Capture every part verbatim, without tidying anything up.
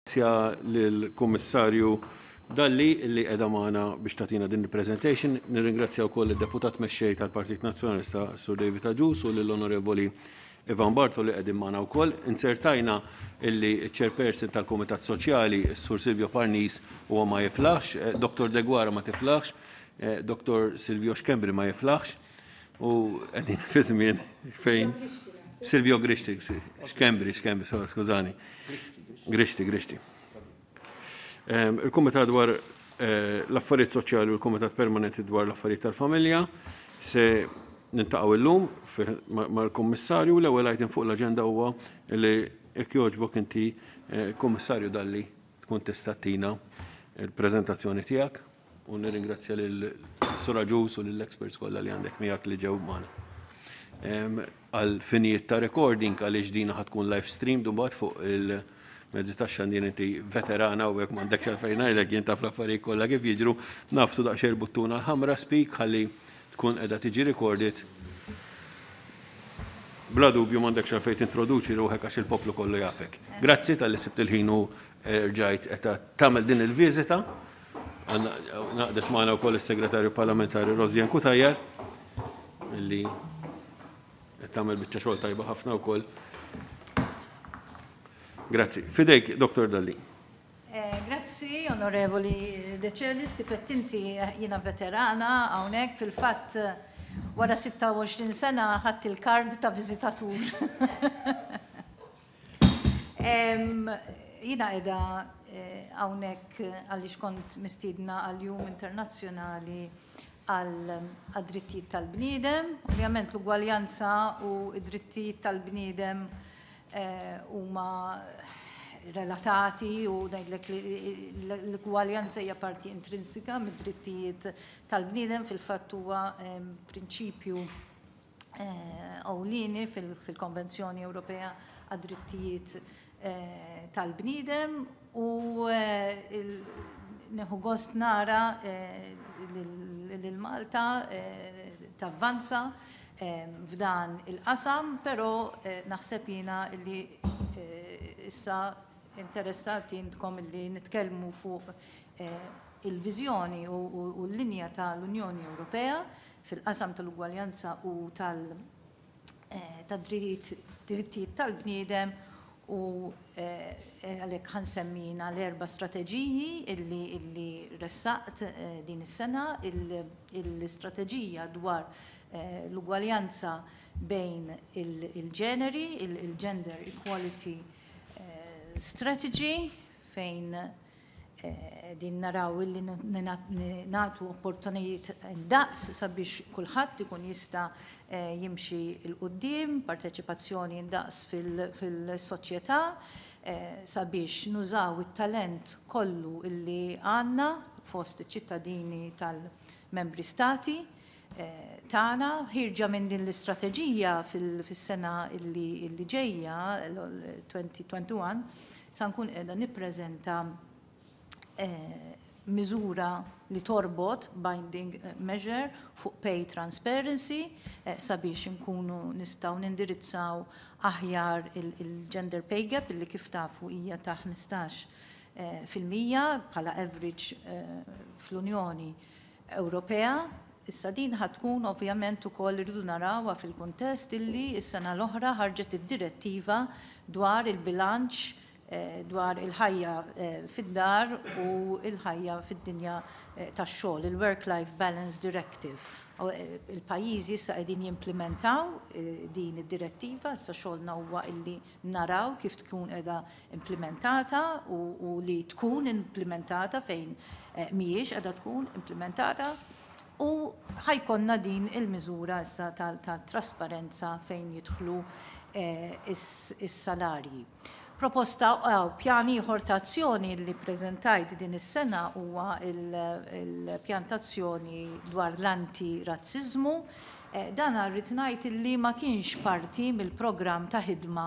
Nirringrazzja lill-Kummissarju Dalli li qiegħda magħna biex tagħtina din il-presentation. Nirringrazzja wkoll id-Deputat Mexxej tal-Partit Nazzjonalista, Sur David Agius, u lill-Onorevoli Ivan Bartolo li qegħdin magħna wkoll. Inzertajna illi ċ-Chairperson tal-Kumitat Soċjali, Sur Silvio Parnis, huwa ma jiflaħx, Doktor Deguara ma tiflaħx, Doktor Silvio Schembri ma jiflaħx, u qegħdin fi żmien fejn Silvio Grixti, Schembri, Schembri, skużani. Grixti, Grixti. Il-Kumitat dwar l-Affarijiet Soċjali u l-Kumitat Permanenti dwar l-Affarijiet tal-Familja se niltaqgħu illum mal-Kummissarju. L-ewwel item fuq l-aġenda huwa li, jekk jogħġbok, inti, Kummissarju Dalli, tkun tista' ttina il-preżentazzjoni tiegħek, u nirringrazzja lil Sur Agius u lill-experts kollha li għandek miegħek li ġew magħna. Għal finijiet ta' recording, għaliex dina ħa tkun live stream mbagħad fuq il-mezzi tax-xandir, inti veterana u hekk, m'għandekx għalfejn ngħidlek, jien taf l-affarijiet kollha kif jiġru, nagħfsu daqsxejn il-buttuna l-ħamra speak ħalli tkun qiegħda tiġi recorded. Bla dubju m'għandekx għalfejn tintroduċi ruħek għax il-poplu kollu jafek. Grazzi talli sibt il-ħin u rġajt qed tagħmel din il-viżita. Ngħaqdet magħna wkoll is-Segretarju Parlamentari Rosianne Cutajar li qed tagħmel biċċa xogħol tajba ħafna wkoll. Grazzi. F'idejk, Doktor Dalli. Grazzi, Onorevoli Decelis, kif qed inti, jiena veterana hawnhekk, fil-fatt wara sitta u għoxrin sena ħadt il-kard ta' viżitatur. Jiena qiegħda hawnhekk għaliex kont mistiedna għal-Jum Internazzjonali għal drittijiet tal-bniedem. Ovvjament l-ugwaljanza u id-drittijiet tal-bniedem huma relatati u ngħidlek li l-ugwaljanza hija parti intrinsika mid-drittijiet tal-bniedem, fil-fatt huwa prinċipju ewlieni fil-Konvenzjoni Ewropea għad-drittijiet tal-bniedem, u nieħu gost nara lil Malta tavvanza f'dan il-qasam, però naħseb jiena li issa interessati intkom li nitkellmu fuq il-viżjoni u l-linja tal-Unjoni Ewropea fil-qasam tal-ugwaljanza u tal-drittijiet tal-bniedem, u għalhekk ħa nsemmi jiena l-erba' strateġiji illi, illi ressaqt din is-sena: l-istrateġija dwar l-ugwaljanza bejn il-ġeneri, il-Gender Equality Strategy, fejn din naraw illi nagħtu opportunitajiet daqs sabiex kulħadd ikun jista' jimxi 'l quddiem, parteċipazzjoni daqs fil-soċjetà, sabiex nużaw it-talent kollu illi għandna fost iċ-ċittadini tal-membri stati tagħna. Ħierġa minn din l-istrateġija, fis-sena illi ġejja, elfejn u wieħed u għoxrin, sa nkun qiegħda nippreżenta miżura li torbot, binding measure, fuq pay transparency sabiex nkunu nistgħu nindirizzaw aħjar il-gender pay gap, illi kif tafu hija ta' ħmistax fil-mija bħala average fl-Unjoni Ewropea. Issa din ħa tkun ovvjament ukoll irridu narawha fil-kuntest illi s-sena l-oħra ħarġet id-direttiva dwar il-bilanċ dwar il-ħajja fid-dar u il-ħajja fid-dinja tax-xogħol, il-Work-Life Balance Directive. Il-pajjiżi issa qegħdin jimplementaw din id-direttiva, issa xogħolna huwa illi naraw kif tkun qiegħda implementata u li tkun implementata fejn mhijiex qiegħda tkun implementata. U ħa jkollna din il-miżura issa tal-trasparenza fejn jidħlu is-salarji. Proposta, pjan ieħor ta' azzjoni li preżentajt din is-sena huwa il-pjan ta' azzjoni dwar l-anti-razzizmu. Dan rrid ngħid li ma kienx parti mill-programm ta' ħidma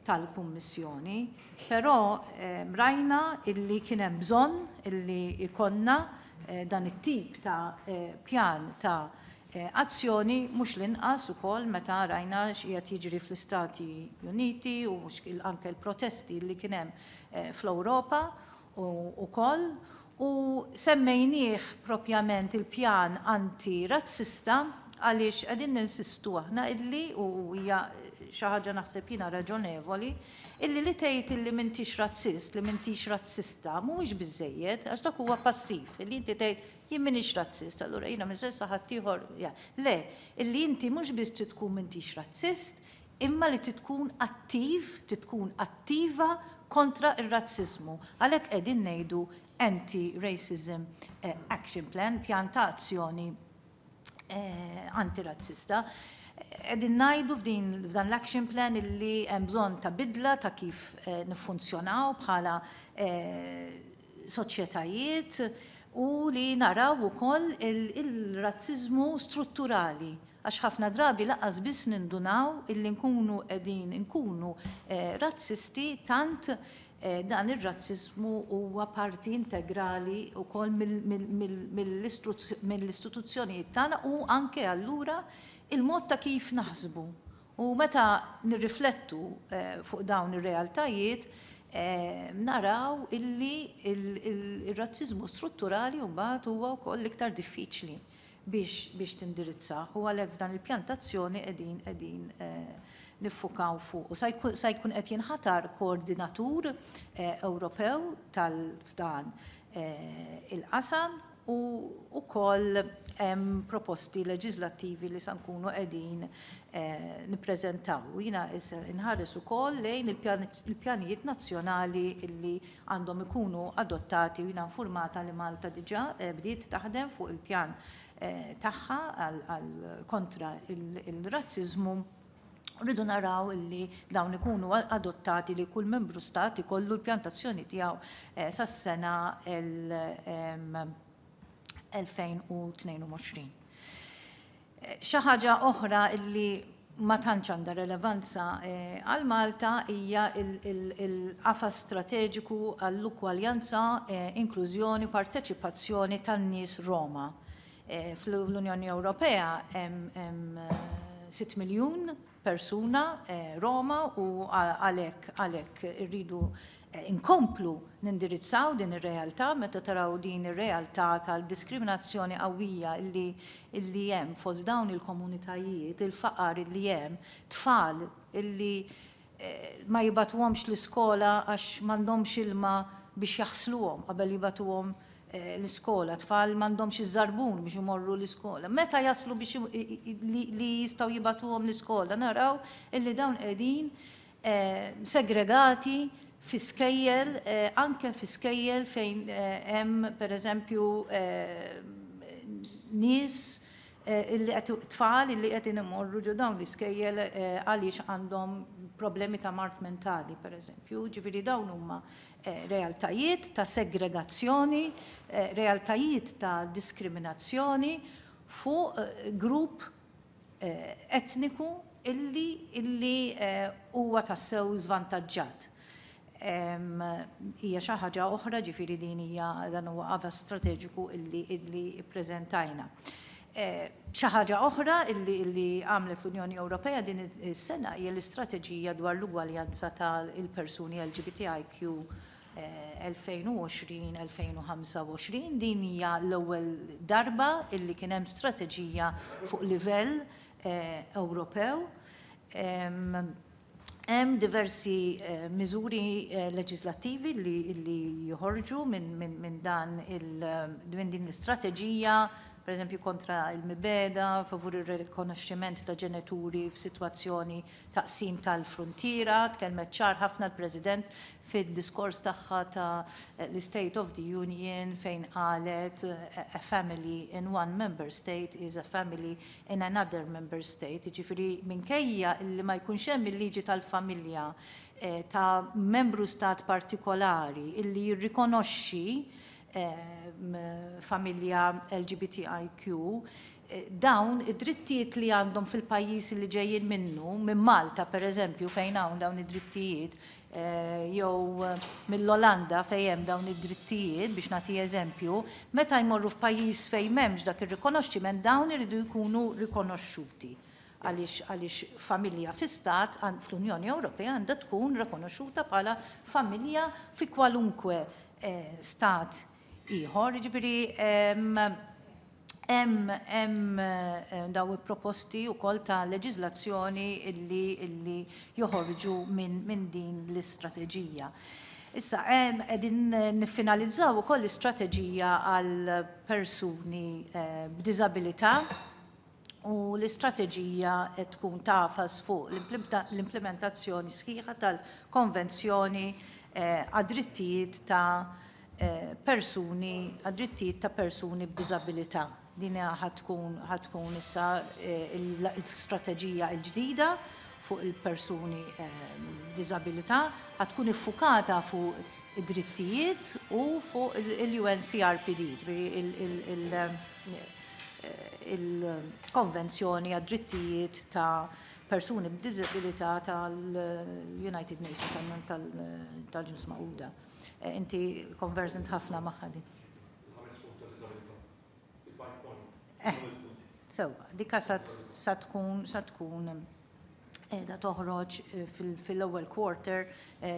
tal-Kummissjoni, però rajna illi kien hemm bżonn illi ikollna dan it-tip ta' pjan ta' azzjoni, mhux l-inqas ukoll meta rajna x'qiegħed jiġri fl-Istati Uniti u anke l-protesti li kien hemm fl-Ewropa ukoll. U semmejnieh propjament il-pjan anti-razzista għaliex qegħdin ninsistu aħna illi, u hija xi ħaġa naħseb jiena raġonevoli, illi li tgħid illi m'intix razzist, li m'intix razzista, mhuwiex biżejjed, għax dak huwa passiv, illi inti tgħid jien m'iniex razzist, allura jiena minn sa ħaddieħor. Le, illi inti mhux biss trid tkun m'intix razzist, imma li tkun attiv, tkun attiva kontra ir-razziżmu. Għalhekk qegħdin ngħidu Anti-Racism Action Plan, pjan ta' azzjoni antirazzista. Qegħdin ngħidu f'din f'dan l-action plan illi hemm bżonn ta' bidla ta' kif niffunzjonaw bħala soċjetajiet u li naraw ukoll il-razziżmu strutturali, għax ħafna drabi lanqas biss nindunaw illi nkunu qegħdin nkunu razzisti, tant dan ir-razziżmu huwa parti integrali wkoll mill-istituzzjonijiet tagħna u anke allura il-mod ta' kif naħsbu. U meta nirriflettu fuq dawn ir-realtajiet, naraw illi il-razziżmu strutturali mbagħad huwa wkoll l-iktar diffiċli biex tindirizzah, u għalhekk f'dan il-pjan t'azzjoni qegħdin qegħdin niffukaw fuq. U sa jkun qed jinħatar koordinatur Ewropew tal-f'dan il-qasam, u wkoll hemm proposti leġislattivi li sa nkunu qegħdin nippreżentaw. U jiena nħares ukoll lejn il-pjanijiet nazzjonali li għandhom ikunu adottati, u jiena informata li Malta diġà bdiet taħdem fuq il-pjan tagħha għal kontra il-razziżmu. Rridu naraw illi dawn ikunu adottati, li kull membru stat ikollu l-pjan t'azzjoni tiegħu sas-sena elfejn u tnejn u għoxrin. Xi ħaġa oħra illi ma tantx għandha relevanza għal Malta hija il-qafas strateġiku għall-ugwaljanza, inklużjoni u parteċipazzjoni tan-nies Roma. Fl-Unjoni Ewropea hemm sitt miljun persuna Roma, u għalhekk għalhekk irridu inkomplu nindirizzaw din ir-realtà. Meta taraw din ir-realtà tal-diskriminazzjoni qawwija illi illi hemm fost dawn il-komunitajiet, il-faqar illi hemm, tfal illi ma jibatuhomx l-iskola għax m'għandhomx ilma biex jaħsluhom qabel jibatuhom l-iskola, tfal m'għandhomx iż-żarbun biex imorru l-iskola. Meta jaslu biex li jistgħu jibatuhom l-iskola, naraw illi dawn qegħdin segregati fi skejjel, anke fi skejjel fejn hemm pereżempju nies illi qed tfal illi qed imorru ġo dawn l-iskejjel għaliex għandhom problemi ta' mard mentali pereżempju. Ġifieri dawn huma realtajiet ta' segregazzjoni, realtajiet ta' diskriminazzjoni fuq grupp etniku illi illi huwa tassew żvantaġġat. Hija xi ħaġa oħra, ġifieri din hija dan huwa qafas strateġiku illi illi ppreżentajna. Xi ħaġa oħra illi illi għamlet l-Unjoni Ewropea din is-sena hija l-istrateġija dwar l-ugwaljanza tal-persuni L G B T I Q elfejn u għoxrin elfejn u ħamsa u għoxrin. Din hija l-ewwel darba illi kien hemm strateġija fuq livell Ewropew. Hemm diversi miżuri leġislattivi li, li joħorġu minn min, min dan il, minn din l-istrateġija, per eżempju kontra il-mibeda, favur il-rikonoxximent ta' ġenituri f'sitwazzjoni ta' qsim tal-frontiera. Tkellmet ċar ħafna l-President fid-diskors tagħha ta' l-State of the Union fejn qalet a family in one member state is a family in another member state. Jiġifieri minkejja li ma jkunx hemm il-liġi tal-familja ta' membru stat partikolari illi jirrikonoxxi familja L G B T I Q, dawn id-drittijiet li għandhom fil-pajjiż li ġejjin minnu, minn Malta per eżempju, fejn hawn dawn id-drittijiet, jew mill-Olanda fejn hemm dawn id-drittijiet, biex nagħti eżempju, meta jmorru f'pajjiż fejn m'hemmx dak ir-rikonoxximent, dawn iridu jkunu rikonoxxuti. Għaliex għaliex familja fi stat fl-Unjoni Ewropea għandha tkun rikonoxxuta bħala familja fi kwalunkwe stat ieħor. Jiġifieri hemm hemm daw proposti wkoll ta' leġiżlazzjoni illi illi joħorġu minn min din l-istrateġija. Issa, qegħdin niffinalizzaw ukoll l-istrateġija għal persuni b'diżabilità u l-istrateġija qed tkun tagħfas fuq l-implementazzjoni sħiħa tal-Konvenzjoni għad-drittijiet ta' persuni, għad-drittijiet ta' persuni b'diżabilità. Din ħa tkun ħa tkun issa l-istrateġija l-ġdida fuq il-persuni b'diżabilità, ħa tkun iffukata fuq id-drittijiet u fuq il-U N C R P D, il-Konvenzjoni għad-drittijiet ta' persuni b'diżabilità tal-United Nations, tal-Ġnus Magħquda. Inti conversant ħafna magħha din. Sewwa, dika sa tkun sa tkun da toħroġ fil-ewwel quarter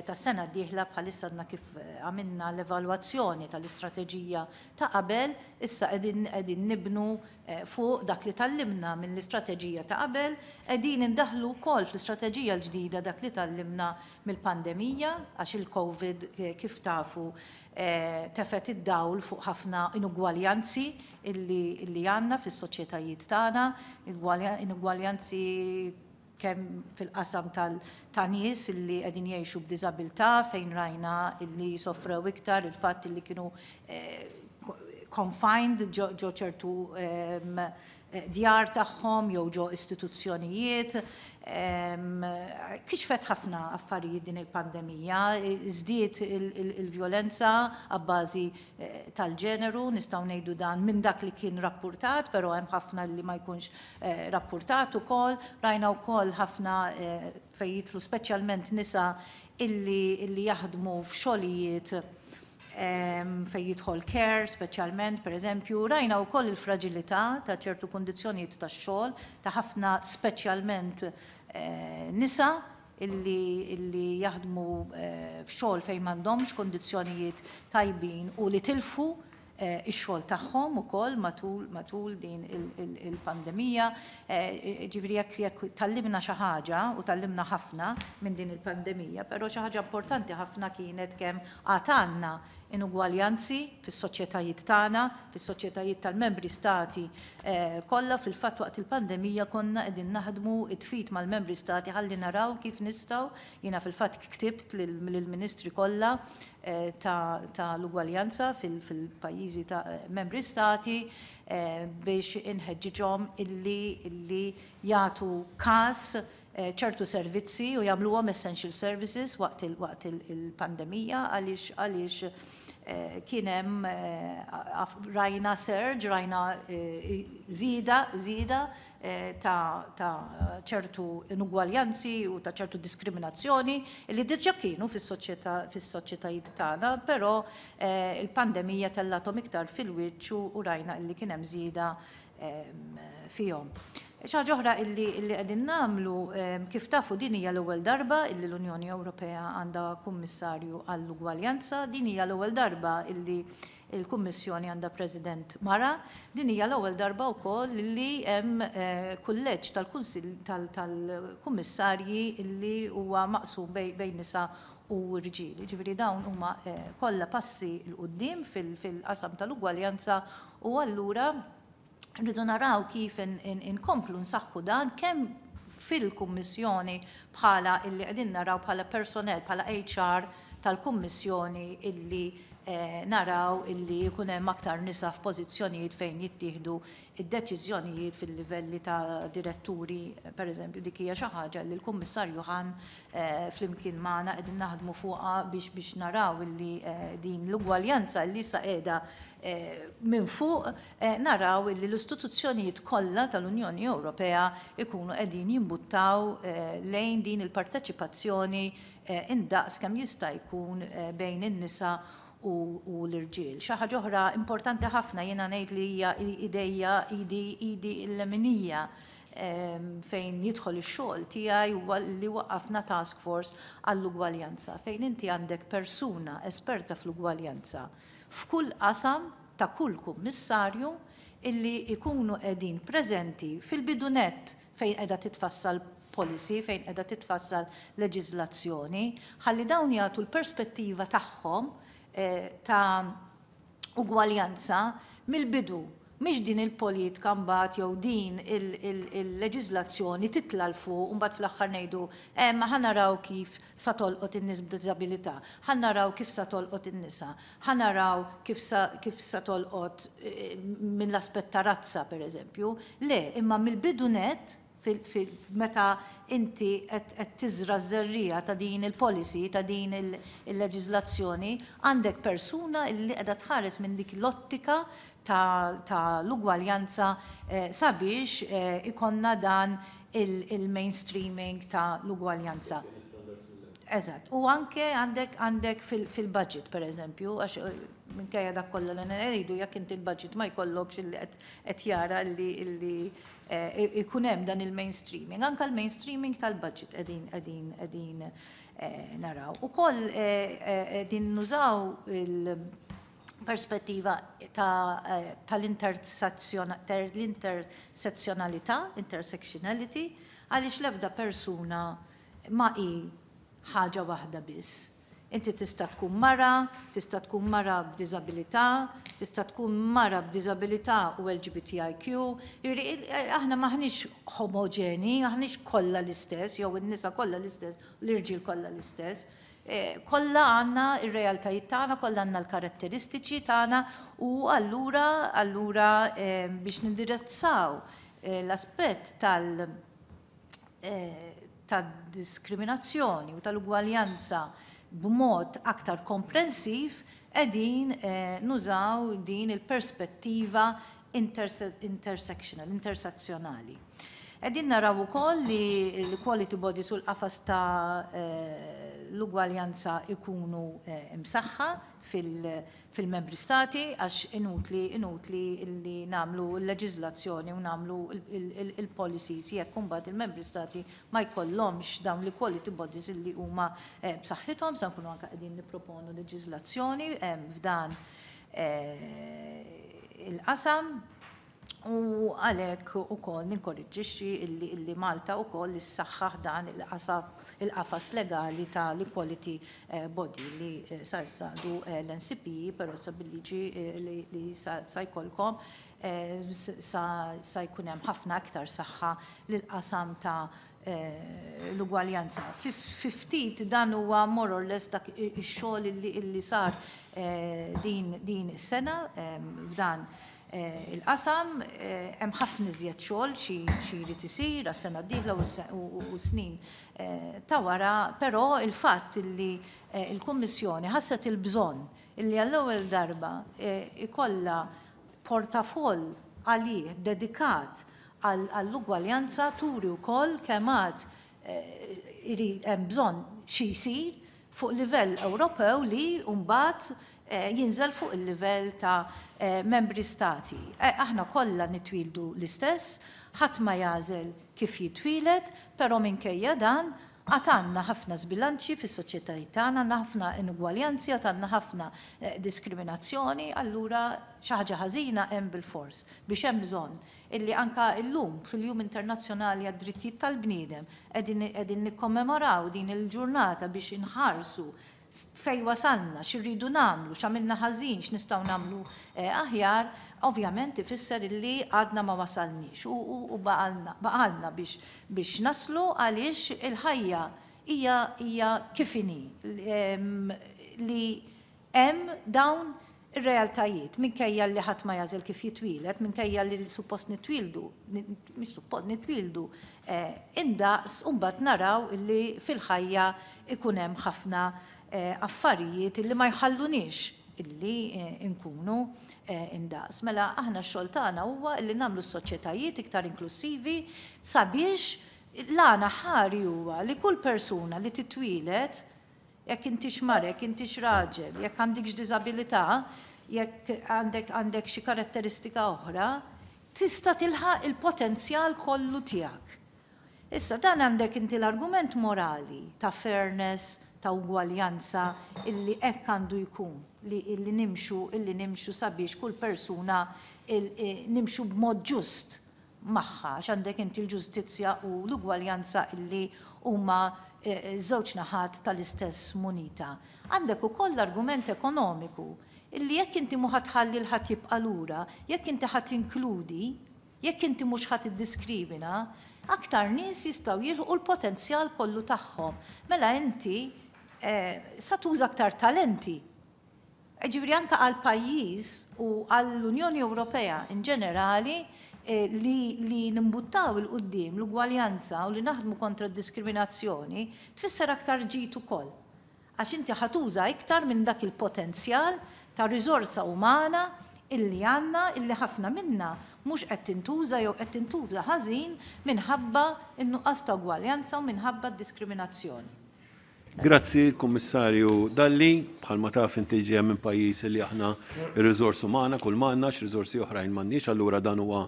tas-sena d-dieħla. Bħalissa għadna kif għamilna l-evalwazzjoni tal-istrateġija ta' qabel, issa qegħdin nibnu fuq dak li tgħallimna mill-istrateġija ta' qabel, qegħdin indaħlu wkoll fl-istrateġija l-ġdida dak li tgħallimna mill-pandemija, għax il-Covid, kif tafu, tefet id-dawl fuq ħafna inugwaljanzi illi għandna fis-soċjetajiet tagħna, inugwaljanzi kemm fil-qasam ta' nies illi qegħdin jgħixu b'diżabilità, fejn rajna illi sofrew iktar il-fatt illi kienu confined ġo ċertu djar tagħhom jew ġo istituzzjonijiet. Kixfet ħafna affarijiet din il-pandemija, żdiet il-vjolenza abbażi tal-ġeneru, nistgħu ngħidu dan minn dak li kien rappurtat, però hemm ħafna li ma jkunx rappurtat ukoll. Rajna wkoll ħafna fejn jidħlu speċjalment nisa illi, illi jaħdmu f'xogħlijiet fejn jidħol care, speċjalment, per eżempju, rajna wkoll il-fragilità ta' ċertu kundizzjonijiet ta' xogħol ta' ħafna, speċjalment nisa illi, illi jaħdmu f'xogħol fejn m'għandhomx kundizzjonijiet tajbin u li tilfu ix-xogħol tagħhom ukoll matul matul din il-pandemija. Ġifieri jekk jekk tgħallimna xi ħaġa, u tgħallimna ħafna minn din il-pandemija, però xi ħaġa importanti ħafna kienet kemm għad għandna inugwaljanzi fis-soċjetajiet tagħna, fis-soċjetajiet tal-membri stati kollha. Fil-fatt, waqt il-pandemija konna qegħdin naħdmu id f'id mal-membri stati ħalli naraw kif nistgħu. Jiena fil-fatt ktibt lill-ministri kollha ta' l-ugwaljanza fil-pajjiżi ta' membri stati biex inħeġġiġhom illi illi jagħtu każ ċertu servizzi u jagħmluhom essential services waqt il-pandemija, għaliex għaliex kien hemm, rajna surge, rajna żieda żieda ta' ċertu inugwaljanzi u ta' ċertu diskriminazzjoni li diġà kienu fis-soċjetajiet tagħna, però il-pandemija tellathom iktar fil-wiċċ u rajna illi kien hemm żieda fihom. Xi oħra illi qegħdin nagħmlu, kif tafu, din hija l-ewwel darba illi l-Unjoni Ewropea għandha kummissarju għall-ugwaljanza, din hija l-ewwel darba illi il-Kummissjoni għandha President mara, din hija l-ewwel darba wkoll li hemm kulleġġ tal-Kunsill tal-Kummissarji illi huwa maqsum bejn nisa u rġiel. Ġifieri dawn huma kollha passi 'l quddiem fil-qasam tal-ugwaljanza u allura rridu naraw kif inkomplu nsaħħu dan kemm fil-Kummissjoni bħala illi qegħdin naraw bħala personnel, bħala H R. tal-Kummissjoni illi eh, naraw illi jkun hemm aktar nisa f'pożizzjonijiet fejn jittieħdu id-deċiżjonijiet fil-livelli ta' diretturi. Per eżempju, dik hija xi ħaġa li l-Kummissarju Hahn eh, flimkien magħna qegħdin naħdmu fuqha biex biex naraw illi eh, din l-ugwaljanza li issa qiegħda eh, minn fuq, eh, naraw illi l-istituzzjonijiet kollha tal-Unjoni Ewropea ikunu qegħdin jimbuttaw eh, lejn din il-parteċipazzjoni eh, indaqs kemm jista' jkun eh, bejn in-nisa u, u l-irġiel. Xi ħaġa oħra importanti ħafna, jiena ngħid li hija idejja idi idi l-leminija em, fejn jidħol ix-xogħol tiegħi, huwa li waqqafna task force għall-ugwaljanza, fejn inti għandek persuna esperta fl-ugwaljanza f'kull qasam ta' kull kummissarju, illi ikunu qegħdin preżenti fil-bidu nett fejn qiegħda titfassal policy, fejn qiegħda titfassal leġiżlazzjoni, ħalli dawn jagħtu l-perspettiva tagħhom eh, ta' ugwaljanza mill-bidu. Mhix din il-politika mbagħad jew din il-leġiżlazzjoni titla' 'l fuq u mbagħad fl-aħħar ngħidu, eh, ma ħa naraw kif sa tolqot in-nies b'diżabilità, ħa naraw kif sa tolqot in-nisa, ħa naraw kif sa, kif sa tolqot eh, minn l-aspett ta' razza, pereżempju. Le, imma mill-bidu net, meta inti qed tiżra żerriegħa ta' din il-policy, ta' din il-leġiżlazzjoni, għandek persuna li qiegħda tħares minn dik l-ottika ta' l-ugwaljanza eh, sabiex eh, ikollna dan il-mainstreaming ta' l-ugwaljanza. Eżatt. U anke għandek għandek fil-budget, per eżempju, għax eh, minkejja dak kollha li ngħidu, jekk inti il-budget ma jkollokx illi qed jara li ikun hemm dan il-mainstreaming. Anka l-mainstreaming tal-budget qegħdin qegħdin qegħdin naraw. Ukoll qegħdin nużaw il-perspettiva tal-intersezzjonalità, intersectionality, għaliex l-ebda persuna ma hi ħaġa waħda biss. Inti tista' tkun mara, tista' tkun mara b'diżabilità, tista' tkun mara b'diżabilità u L G B T I Q. Aħna maħniex homogeni, maħniex kollha l-istess, jew in-nisa kollha l-istess, l-irġiel kollha l-istess. Eh, kollha għandna ir-realtajiet tagħna, kollha għandna l-karatteristiċi tagħna u allura allura eh, biex nindirizzaw eh, l-aspett tal- tad-diskriminazzjoni u tal-ugwaljanza b'mod aktar komprensiv, qegħdin nużaw din il-perspettiva intersectional, intersezzjonali. Qegħdin naraw ukoll li l-equality bodies u l-qafas ta' l-ugwaljanza ikunu imsaħħa fil-membri stati, għax inutli inutli li nagħmlu l-leġiżlazzjoni u nagħmlu il-policies jekk imbagħad il-membri stati ma jkollhomx dawn l-equality bodies illi huma b'saħħithom. Sa nkunu anke qegħdin nipproponu leġiżlazzjoni f'dan il-qasam u għalhekk ukoll ninkoraġġixxi illi, illi Malta ukoll issaħħaħ dan il-qafas legali tal-equality eh, body li eh, sa issa għadu eh, l-N C P E, però sa bil-liġi li, li sa, sa jkollkom sa, sa jkun hemm ħafna aktar saħħa lil qasam ta' l-ugwaljanza. Fi ftit dan huwa more or less dak ix-xogħol illi, illi sar din, din is-sena f'dan il-qasam. Hemm ħafna iżjed xogħol xi jrid isir għas-sena d-dieħla u snin ta' wara, però il-fatt illi il-Kummissjoni ħasset il-bżonn illi għall-ewwel darba ikollha portafoll għalih dedikat għall-ugwaljanza turi wkoll kemm għad hemm bżonn xi jsir fuq livell Ewropew li mbagħad jinżel fuq il-livell ta' membri stati. Aħna kollha nitwildu l-istess, ħadd ma jagħżel kif jitwieled, però minkejja dan għad għandna ħafna żbilanċi fis-soċjetajiet tagħna, għandna ħafna inugwaljanzi, għad għandna ħafna diskriminazzjoni, allura xi ħaġa ħażina hemm bil-fors biex hemm bżonn illi anka illum fil-Jum Internazzjonali għad-Drittijiet tal-Bniedem qegħdin nikkommemoraw din il-ġurnata biex inħarsu fej wasalna, x'irridu nagħmlu, x'għamilna ħażin, x'nistgħu nagħmlu aħjar, ovvjament ifisser illi għadna ma wasalniex u baqgħalna biex biex naslu, għaliex il-ħajja hija hija kif inhi. li hemm dawn ir-realtajiet, minkejja li ħadd ma jagħżel kif jitwieled, minkejja li suppost nitwieldu, mhux suppost nitwieldu, indaqs, u mbagħad naraw li fil-ħajja ikun hemm ħafna affarijiet illi ma jħalluniex illi nkunu indaqs. Mela aħna x-xogħol tagħna huwa illi nagħmlu s-soċjetajiet iktar inklusivi sabiex l-għana ħari huwa li kull persuna li titwieled, jekk intix mara, jekk intix raġel, jekk għandikx diżabilità, jekk għandek għandek xi karatteristika oħra, tista' tilħaq il-potenzjal kollu tiegħek. Issa dan għandek inti l-argument morali ta' fairness, ta' ugwaljanza, illi hekk għandu jkun, li illi nimxu, illi nimxu sabiex kull persuna nimxu b'mod ġust magħha, għax għandek inti l-ġustizzja u l-ugwaljanza illi huma żewġ naħat tal-istess munita. Għandek ukoll l-argument ekonomiku illi jekk inti mhux ħatħalli l ħadd jibqa' lura, jekk inti ħadd inkludi, jekk inti mhux ħadd iddiskrimina, aktar nies jistgħu jilħqu l-potenzjal kollu tagħhom. Mela inti sa tuża aktar talenti. Ġifieri anke għal pajjiż u għall-Unjoni Ewropea in ġenerali li, li nimbuttaw il-qoddim l-ugwaljanza u li naħdmu kontra d-diskriminazzjoni tfisser aktar ġid ukoll. Għax inti ħatuża iktar minn dak il-potenzjal ta' riżorsa umana illi għandna, illi ħafna minna mhux qed tintuża jew qed tintuża ħażin minħabba n-nuqqas ta' ugwaljanza u minħabba d-diskriminazzjoni. Grazzi, Kummissarju Dalli. Bħalma taf inti ġejja minn pajjiż li aħna ir-riżorsi umana kull m'għandna, riżorsi oħrajn m'għandniex, allura dan huwa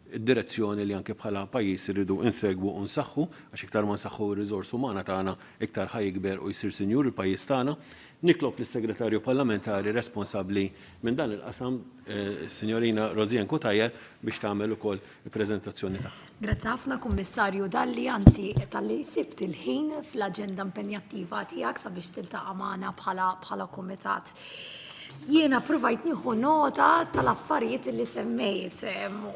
id-direzzjoni li anke bħala pajjiż irridu insegwu u nsaħħu, għax iktar ma nsaħħu r-riżorsi umana tagħna iktar ħa jikber u jsir sinjur il-pajjiż tagħna. Nitlob lis-Segretarju Parlamentari responsabbli minn dan il-qasam, Signorina Rosianne Cutajar, biex tagħmel ukoll il-preżentazzjoni tagħha. Grazzi ħafna, Kummissarju Dalli, anzi talli sibt il-ħin fl-aġenda impenjattiva tiegħek sabiex tiltaqa' magħna bħala bħala kumitat. Jiena provajt nieħu nota tal-affarijiet li semmejt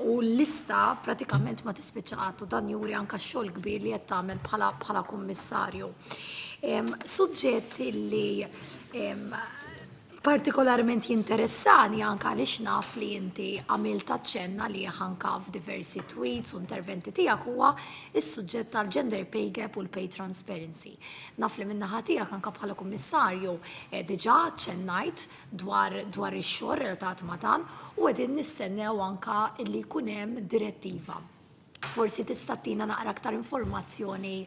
u l-lista pratikament ma tispiċċa qatt, u dan juri anka x-xogħol kbir li qed tagħmel bħala bħala kummissarju. Suġġett li partikolarment jinteressani anka għaliex naf li inti għamilt aċċenna li anka f'diversi tweets u interventi tiegħek huwa is-suġġett tal-gender pay gap u l-pay transparency. Naf li min-naħa tiegħek anka bħala kummissarju diġà aċċennajt dwar dwar ix-xogħol relatat ma' dan u qegħdin nistennew anka li jkun hemm direttiva. Forsi tista' tina naqra aktar informazzjoni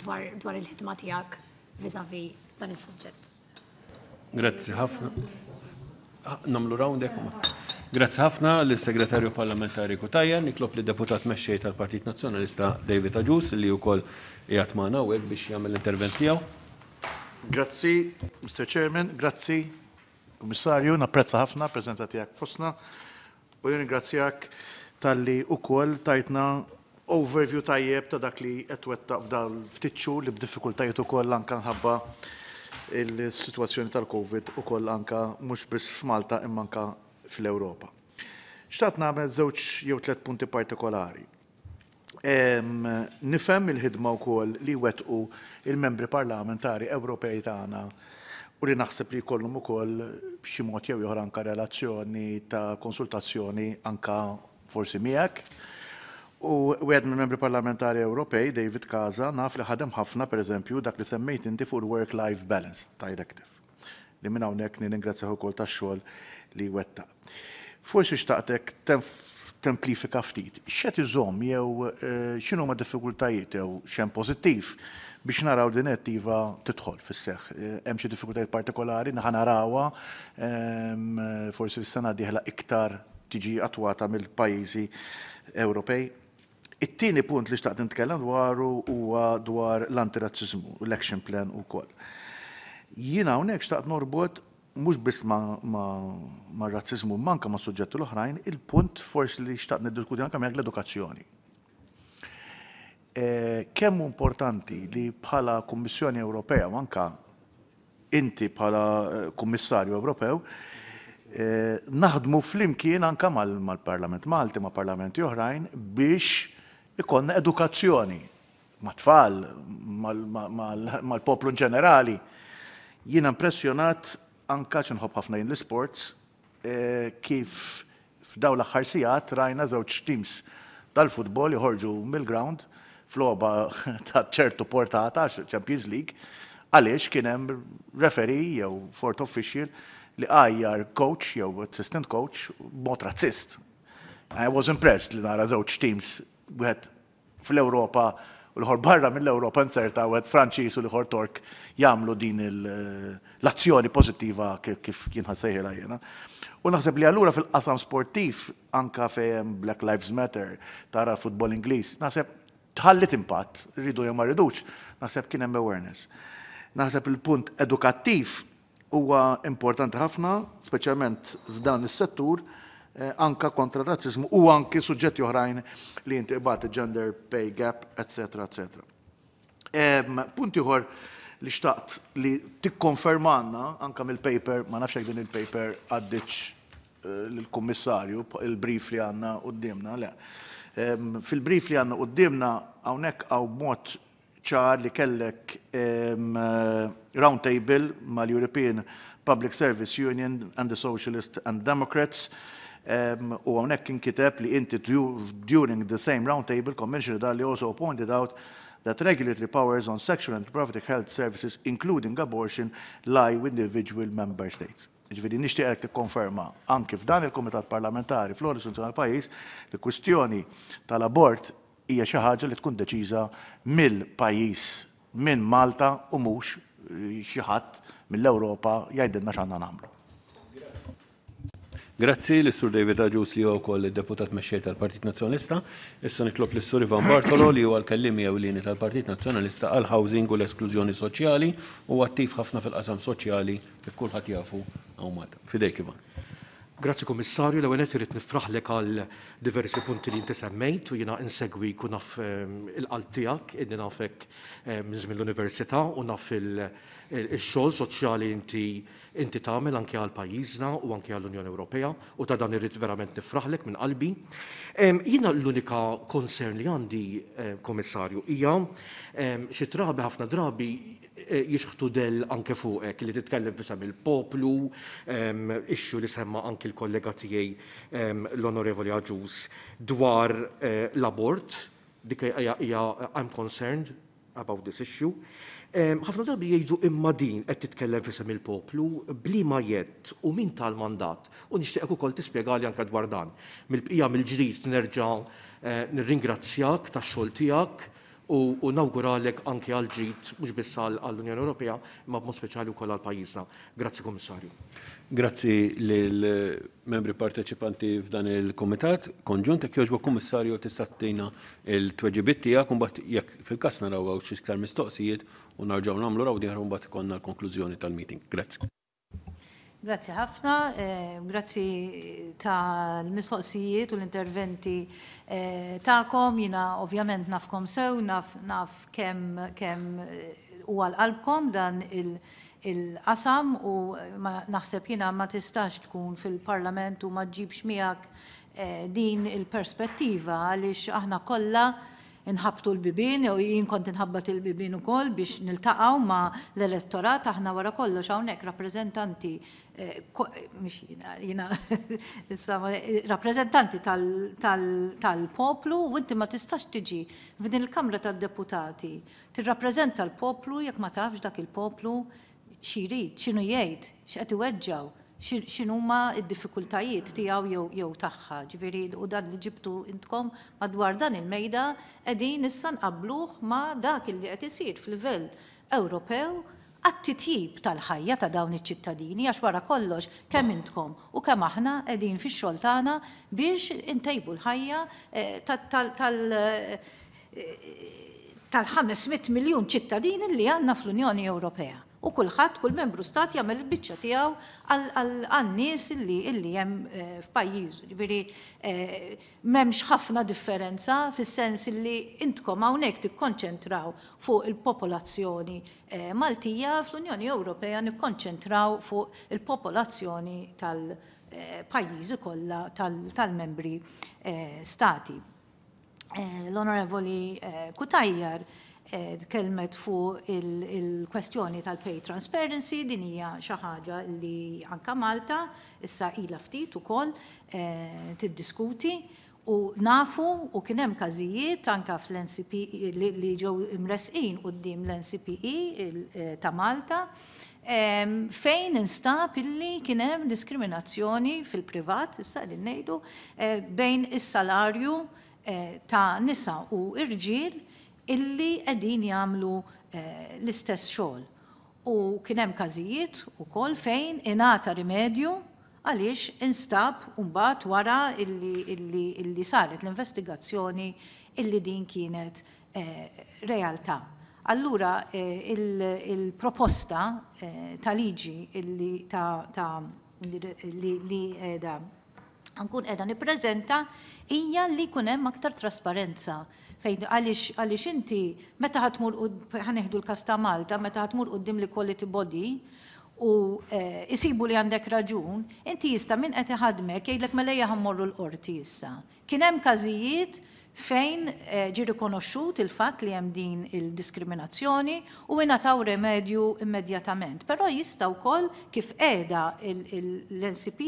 dwar dwar il-ħidma tiegħek vis-à-vis dan is-suġġett. Grazzi ħafna. Nagħmlu round hekk. Grazzi ħafna lis-Segretarju Parlamentari Cutajar. Nitlob lid-Deputat Mexxej tal-Partit Nazzjonalista David Agius li wkoll qiegħed magħna hawnhekk biex jagħmel l-intervent tiegħu. Grazzi, Mister Chairman, grazzi, Kummissarju, napprezza ħafna l-preżenza tiegħek fostna u nirringrazzjak talli wkoll tajtna overview tajjeb ta' dak li qed twettaq f'dal ftit xhur li b'diffikultajiet ukoll anke nħabba il-sitwazzjoni tal-Covid ukoll anke mhux biss f'Malta imma anke fl-Ewropa. Xtaqt nagħmel żewġ jew tliet punti partikolari. Nifhem il-ħidma wkoll li wettqu il-membri parlamentari Ewropej tagħna u li naħseb li jkollhom ukoll b'xi mod jew ieħor anke relazzjoni ta' konsultazzjoni anke forsi miegħek. U wieħed mill-membri parlamentari Ewropej, David Casa, naf li ħadem ħafna pereżempju dak li semmejt inti fuq il-Work-Life Balance Directive, li minn hawnhekk nirringrazzjah ukoll tax-xogħol li wettaq. Forsi xtaqtek templifika ftit, x'qed iżomm jew x'inhuma diffikultajiet jew x'hemm pożittiv biex naraw din direttiva tidħol fis-seħħ. Hemm xi diffikultajiet partikolari naħa narawha forsi fis-sena d-dieħla iktar tiġi attwata mill-pajjiżi Ewropej. It-tieni punt li xtaqt nitkellem dwaru huwa dwar l-antirazziżmu, l-action plan ukoll. Jiena hawnhekk xtaqt norbot mhux biss ma' razziżmu imma anke ma' suġġetti l-oħrajn, il-punt forsi li xtaqt niddiskuti anke miegħek l-edukazzjoni. Kemm hu importanti li bħala Kummissjoni Ewropea u anke inti bħala Kummissarju Ewropew naħdmu flimkien anke mal-Parlament Malti, ma' parlamenti oħrajn biex ikollna edukazzjoni ma' tfal, mal-poplu in ġenerali. Jiena impressjonat anka nħobb ħafna jien l-sports eh, kif f'daw l-aħħar sigħat rajna żewġ teams tal-futbol joħorġu mill-ground f'logħba ta' ċertu portata, Champions League, għaliex kien hemm referee jew fourth official li għajjar coach jew assistant coach b'mod razzist. I was impressed li nara żewġ teams, wieħed fl-Ewropa u l-ieħor barra mill-Ewropa, inzerta wieħed Franċiż u l-ieħor Tork, jagħmlu din l-azzjoni pożittiva, kif kien ħa nsejħilha jiena. U naħseb li allura fil-qasam sportiv, anka fejn Black Lives Matter, tara futbol Ingliż, naħseb tħallit impatt, rridu jew ma rridux, naħseb kien hemm awareness. Naħseb il-punt edukattiv huwa importanti ħafna, speċjalment f'dan is-settur, eh, anka kontra r-razzizmu u anki suġġetti oħrajn li inti qbadt, gender pay gap, eccetera, eccetera. Punt ieħor li xtaqt li tikkonfermanna anka mill-paper, ma nafx din il-paper għaddietx eh, l-kummissarju, il-brief li għandna quddiemna, le. Fil-brief li għandna quddiemna hawnhekk hawn mod ċar li kellek round table mal-European Public Service Union and the Socialists and Democrats u hawnhekk inkiteb li inti, "During the same round table, Commissioner Dalli also pointed out that regulatory powers on sexual and reproductive health services, including abortion, lie with individual member states." Ġifieri nixtieqek tikkonferma anki f'dan il-Kumitat Parlamentari fl-ogħla istituzzjoni tal-pajjiż li kwistjoni tal-abort hija xi ħaġa li tkun deċiża mill-pajjiż, minn Malta, u mhux xi ħadd mill-Ewropa jgħidilna x'għandna nagħmlu. Grazzi lis-Sur David Agius, li huwa wkoll id-deputat mexxej tal-Partit Nazzjonalista. Issa nitlob lis-Sur Ivan Bartolo, li huwa l-kellimi ewlieni tal-Partit Nazzjonalista għal housing u l-esklużjoni soċjali u attiv ħafna fil-qasam soċjali, kif kulħadd jafu hawn Malta. Fidejk, Ivan. Grazzi, Kommissarju. L-ewwel nett irrid nifraħlek għal diversi punti li inti semmejt u jiena insegwi kun naf ehm, il-qalb tiegħek, inni nafek ehm, minn żmien l-università u naf il-xogħol soċjali inti inti tagħmel anke għal pajjiżna u anke għall-Unjoni Ewropea, u ta' dan irrid verament nifraħlek minn qalbi. Ehm, jiena l-unika concern li għandi, Kommissarju, hija xi drabi, ħafna drabi Eh, jixħtu dell anke fuqek li titkellem fisem il-poplu, issue li semma anke l-kollega tiegħi l-Onorevoli Agius dwar eh, l-abort, dik hija I'm concerned about this issue. Ħafna drabi jgħidu, "Imma din qed titkellem fisem il-poplu, b'liema jedd u min taha l-mandat?" U nixtieqek ukoll tispjegali anke dwar dan. Mill-bqija, mill-ġdid nerġa' eh, nirringrazzjak tax-xogħol tiegħek u nawguralek anke għal ġid mhux biss għall-Unjoni Ewropea, imma b'mod speċjali wkoll għal pajjiżna. Grazzi, Kummissarju. Grazzi lill-membri parteċipanti f'dan il-komitat konġunt. Jekk jogħġbok, Kummissarju, tista' ttina il-tweġibiet tiegħek, u mbagħad jekk fil-każ naraw xi iktar mistoqsijiet u narġgħu nagħmlu round ieħor u mbagħad ikollna l-konklużjoni tal-meeting. Grazzi. Grazzi ħafna, eh, grazzi tal-mistoqsijiet u l-interventi eh, tagħkom. Jiena ovvjament nafkom sew, naf, naf kemm kemm eh, u għal-qalbkom dan il-qasam u ma naħseb jiena ma tistax tkun fil-parlament u ma ġibx miegħek din il-perspettiva, għaliex aħna kollha nħabtu l-bibien, u jien kont inħabbat il-bibien ukoll biex niltaqgħu ma l-elettorat. Aħna wara kollox hawnhekk rappreżentanti, eh, mhux jiena, jiena issa rappreżentanti tal-poplu, u inti ma tistax tiġi f'din il-Kamra tad-Deputati tirrappreżenta l-poplu jekk ma tafx dak il-poplu xi jrid, x'inhu jgħid, x'qed iweġġaw, x'inhuma d-diffikultajiet tiegħu jew jew tagħha. Ġifieri u dan li ġibtu intkom madwar dan il-mejda qegħdin issa nqabluh ma' dak li qed isir f'livell Ewropew għat-titjib tal-ħajja ta' dawn iċ-ċittadini, għax wara kollox kemm intkom u kemm aħna qegħdin fix-xogħol tagħna biex intejbu l-ħajja eh, tal- eh, tal-ħames mitt miljun ċittadini li għandna fl-Unjoni Ewropea. U kulħadd, kull membru stat jagħmel il-biċċa tiegħu għan-nies illi illi hemm eh, f'pajjiżu. Ġifieri eh, m'hemmx ħafna differenza fis-sens illi intkom hawnhekk tikkonċentraw fuq il-popolazzjoni eh, Maltija, fl-Unjoni Ewropea nikkonċentraw fuq il-popolazzjoni tal-pajjiżi kollha tal-membri stati. L-Onorevoli Cutajar tkellmet fuq il-kwestjoni tal-pay transparency, din hija xi ħaġa li anka Malta issa ilha ftit ukoll tiddiskuti u nafu u kien hemm każijiet anka fl-N C P E li ġew imresqin quddiem l-N C P E ta' Malta fejn instab illi kien hemm diskriminazzjoni fil-privat, issa qegħdin ngħidu, bejn is-salarju ta' nisa u irġiel illi qegħdin jagħmlu l-istess xogħol. U kien hemm każijiet ukoll fejn ingħata rimedju għaliex instab mbagħad wara illi, illi, illi saret l-investigazzjoni illi din kienet eh, realtà. Allura eh, il-proposta eh, ta' liġi illi ta', ta li, li, li qiegħda nkun qiegħda nippreżenta hija li jkun hemm aktar trasparenza fejn għaliex għaliex inti meta ħa tmur, ħa nieħdu l-każ ta' Malta, meta ħa tmur quddiem l-equality body u isibu li għandek raġun, inti jista' min qed iħadmek jgħidlek, "Mela ejja ħa mmorru l-qorti issa." Kien hemm każijiet fejn ġi rikonoxxut il-fatt li hemm din il-diskriminazzjoni u ingħataw remedju immedjatament. Però jista' wkoll, kif qiegħda l-N C P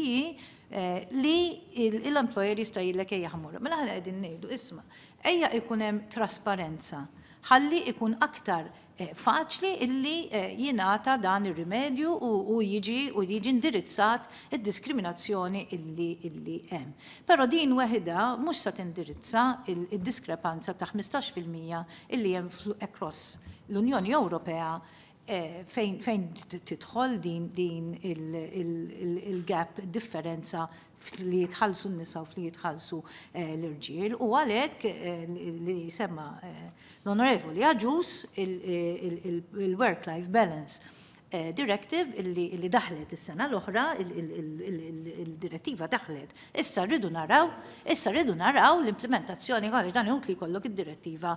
E, li l-employer jista' jgħidlek, "Ejja ħa mmorru." Mela aħna qegħdin ngħidu, isma', ejja ikun hemm trasparenza ħalli ikun aktar faċli illi jingħata dan ir-rimedju u jiġi u jiġi indirizzat id-diskriminazzjoni illi illi hemm. Però din waħda mhux sa tindirizza il-diskrepanza ta' ħmistax fil-mija illi hemm across l-Unjoni Ewropea fejn fejn tidħol din din il-gap, differenza li jitħallsu n-nisa u li jitħallsu l-irġiel. U għalhekk li semma l-Onorevoli Agius, il-Work-Life Balance Directive illi daħlet is-sena l-oħra, il-direttiva daħlet. Issa rridu naraw, issa rridu naraw l-implementazzjoni, għaliex dan li jkollok id-direttiva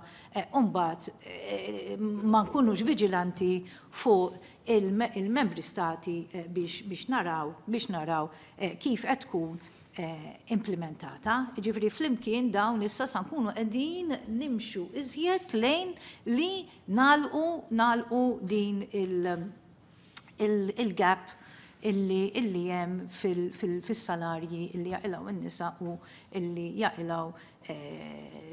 u mbagħad ma nkunux viġilanti fuq il-membri stati biex naraw biex naraw kif qed tkun implementata. Ġifieri flimkien dawn issa sa nkunu qegħdin nimxu iżjed lejn li nagħlqu nagħlqu din il-gap illi illi hemm fis-salarji illi jaqilgħu n-nisa u illi jaqilgħu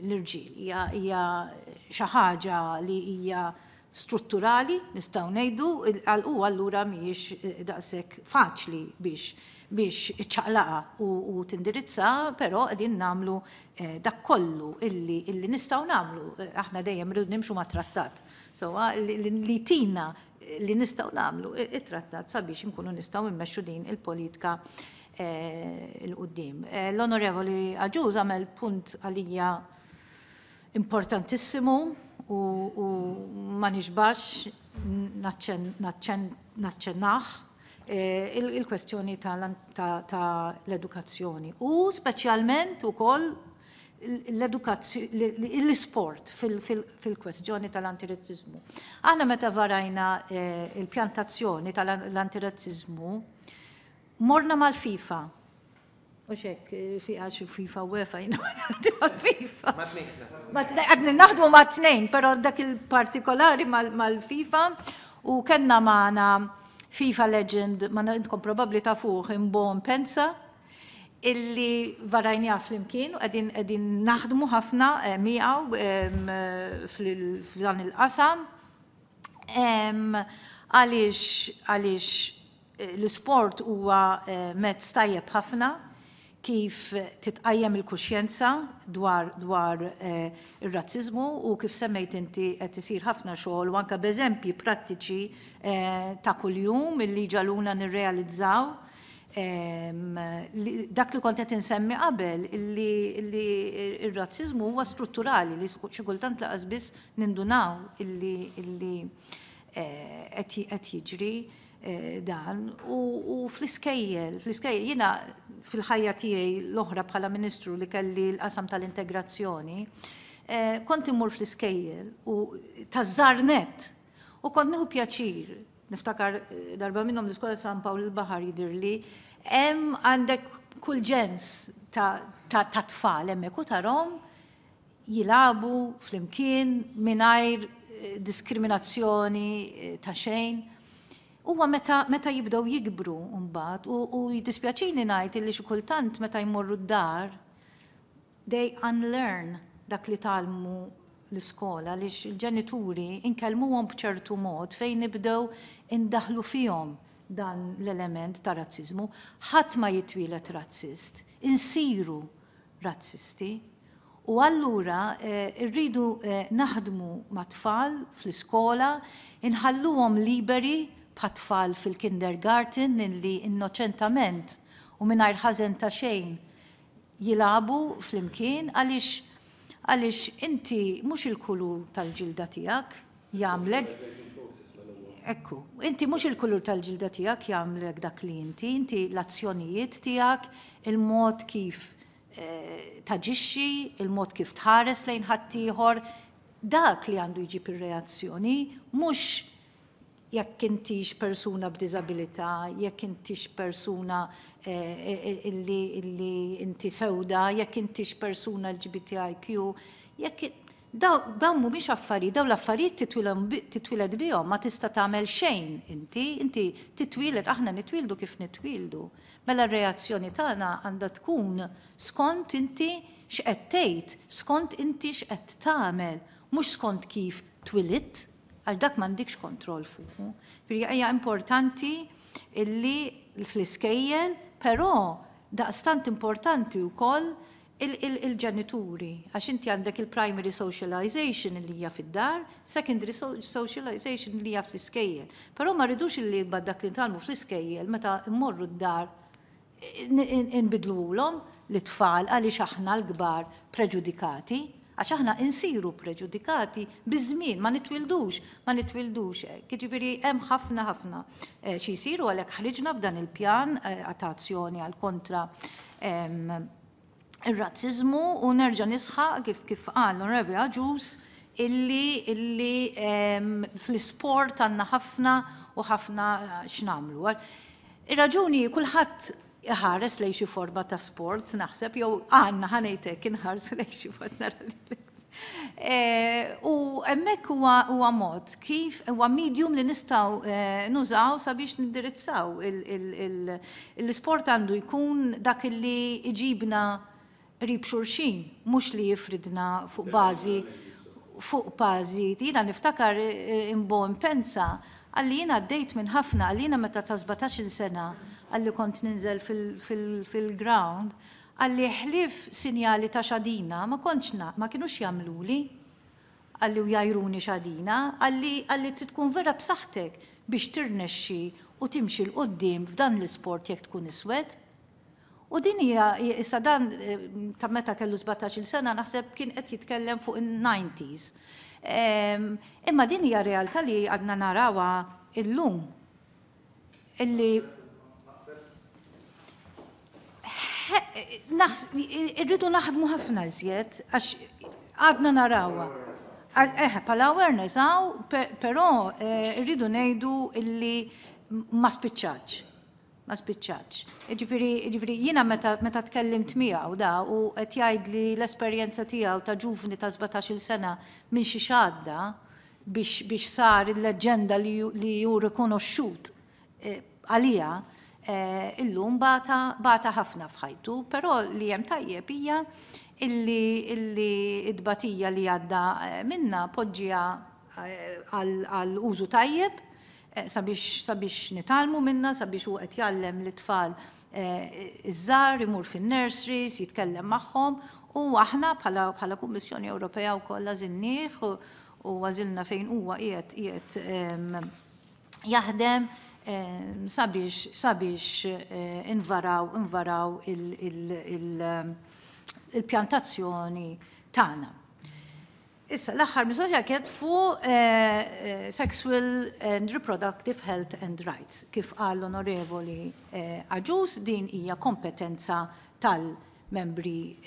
l-irġiel. Hija xi ħaġa li hija strutturali, nistgħu ngħidu, u allura mhijiex daqshekk faċli biex biex iċċaqlaqa u tindirizza, però qegħdin nagħmlu dak kollu illi illi nistgħu nagħmlu. Aħna dejjem rridu nimxu ma' trattat. So li tina li nistgħu nagħmlu it-trattat sabiex nkunu nistgħu immexxu din il-politika 'l quddiem. L-Onorevoli Agius għamel punt għalija importantissimu u ma nixbax naċċennah, il-kwestjoni ta' l-edukazzjoni u speċjalment ukoll l-sport fil-kwestjoni tal-antirazzizmu. Aħna meta varajna il-pjan t'azzjoni tal-antirazzizmu, morna mal-FIFA. U xek, fi għax FIFA, UEFA, jiena mal-FIFA. Għadni naħdmu ma' tnejn, pero dak il-partikolari mal-FIFA u kellna magħna FIFA legend, ma intkom probabli tafuh, Mbo Mpenza, illi varajna flimkien u qegħdin qegħdin naħdmu ħafna miegħu f'dan il-qasam. Għaliex għaliex l-sport huwa mezz tajjeb ħafna kif titqajjem il-kuxjenza dwar dwar ir-razzizmu u kif semmejt inti qed isir ħafna xogħol u anke b'eżempji prattiċi ta' kuljum illi ġagħluna nirrealizzaw dak li kont qed insemmi qabel, illi ir-razzizmu huwa strutturali li xi kultant lanqas biss nindunaw illi illi qed jiġri dan. U fl-iskejjel, fl-iskejjel jiena fil-ħajja tiegħi l-oħra bħala ministru li kelli l-qasam tal-integrazzjoni, kont immur fl-iskejjel u taż-żgħar nett u kont nieħu pjaċir. Niftakar darba minnhom l-iskola San Pawl il-Baħar jidirli, hemm għandek kull ġens ta' tfal hemmhekk u tarahom jilagħbu flimkien mingħajr diskriminazzjoni ta' xejn. Huwa meta, meta jibdew jikbru mbagħad u, u jiddispjaċini ngħid li xi kultant meta jmorru d-dar they unlearn dak li tgħallmu l-iskola, għaliex il-ġenituri inkellmuhom b'ċertu mod fejn nibdew indaħlu fihom dan l-element ta' razzizmu. Ħadd ma jitwieled razzist, insiru razzisti. U allura rridu naħdmu ma' tfal fl-iskola, inħalluhom liberi bħat-tfal fil-kindergarten li innoċentament u mingħajr ħażen ta' xejn jilagħbu flimkien, għaliex għaliex inti mhux il-kulur tal-ġilda tiegħek jagħmlek. Ekku, inti mhux il-kulur tal-ġilda tiegħek jagħmlek dak li inti, inti l-azzjonijiet tiegħek, il-mod kif taġixxi, il-mod kif tħares lejn ħaddieħor, dak li għandu jġib ir-reazzjoni, mhux jekk intix persuna b'diżabilità, jekk intix persuna illi, illi inti sewda, jekk intix persuna L G B T I Q, jekk dawn mhumiex affarijiet, dawn l-affarijiet titwieled bihom, ma tista' tagħmel xejn inti, inti titwieled, aħna nitwieldu kif nitwieldu. Mela r-reazzjoni tagħna għandha tkun skont inti x'qed tgħid, skont inti x'qed tagħmel, mhux skont kif twilidt, għax dak m'għandikx kontroll fuqu. Hija importanti illi fl-iskejjel, però daqstant importanti wkoll il-ġenituri, għax inti għandek il-primary socialization li hija fid-dar, secondary socialization li hija fl-iskejjel. Però ma rridux illi dak li nitgħallmu fl-iskejjel meta mmorru d-dar nbidluhom lit-tfal għaliex aħna l-kbar preġudikati, għax aħna insiru preġudikati biż-żmien, ma nitwildux, ma nitwildux hekk. Jiġifieri hemm ħafna ħafna xi jsiru, għalhekk ħriġna b'dan il-pjan ta' azzjoni għal kontra ir-razzizmu u nerġa' nisħaq kif kif qal l-Onorevoli Agius illi illi fl-isport għandna ħafna u ħafna x'nagħmlu. Ir-raġuni, kulħadd iħares lejn xi forma ta' sport, naħseb, jew għandna, ħa ngħidlek, inħarsu lejn xi forma. U hemmhekk huwa mod kif huwa medium li nistgħu nużaw sabiex nindirizzaw l-isport. Għandu jkun dak li iġibna qrib xulxin, mhux li jifridna fuq bażi fuq bażi. Jiena niftakar Mbo Mpenza qalli, jiena għaddejt minn ħafna, qalli jiena meta ta' sbatax-il sena, qalli kont ninżel fil-ground, qalli ħlief sinjali ta' xadina, ma kontx, ma kienux jagħmluli, qalli, u jgħajruni xadina, qalli qalli trid tkun vera b'saħħtek biex tirnexxi u timxi 'l quddiem f'dan l-isport jekk tkun iswed. U din hija issa dan ta' meta kellu sbatax-il sena, naħseb kien qed jitkellem fuq in-nineties. Imma din hija realtà li għadna narawha illum. Illi irridu naħdmu ħafna iżjed għax għadna narawha. Eħe, bħala awareness hawn, però rridu ngħidu illi ma spiċċatx. Ma spiċċatx. Ġifieri, ġifieri jiena meta, meta tkellimt miegħu da u qed jgħidli l-esperjenza tiegħu ta' ġuvni ta' sbatax-il sena minn xi xadda biex, biex sar il-leġenda li, li hu rikonoxxut għalija, illum bata, bata ħafna f'ħajtu, però li hemm tajjeb hija illi illi id-batija li għadda minna poġġiha għal użu tajjeb sabiex sabiex nitgħallmu minna, sabiex hu qed jgħallem lit-tfal iż-żgħar, imur fin-nurseries, jitkellem magħhom, u aħna bħala bħala Kummissjoni Ewropea wkoll għażilnieh u għażilna fejn huwa qiegħed qiegħed jaħdem sabiex sabiex invaraw invaraw il-pjan t'azzjoni tagħna. Issa, l-aħħar mistoqsija kienet fuq sexual and reproductive health and rights. Kif qal l-Onorevoli Agius, din hija kompetenza tal-membri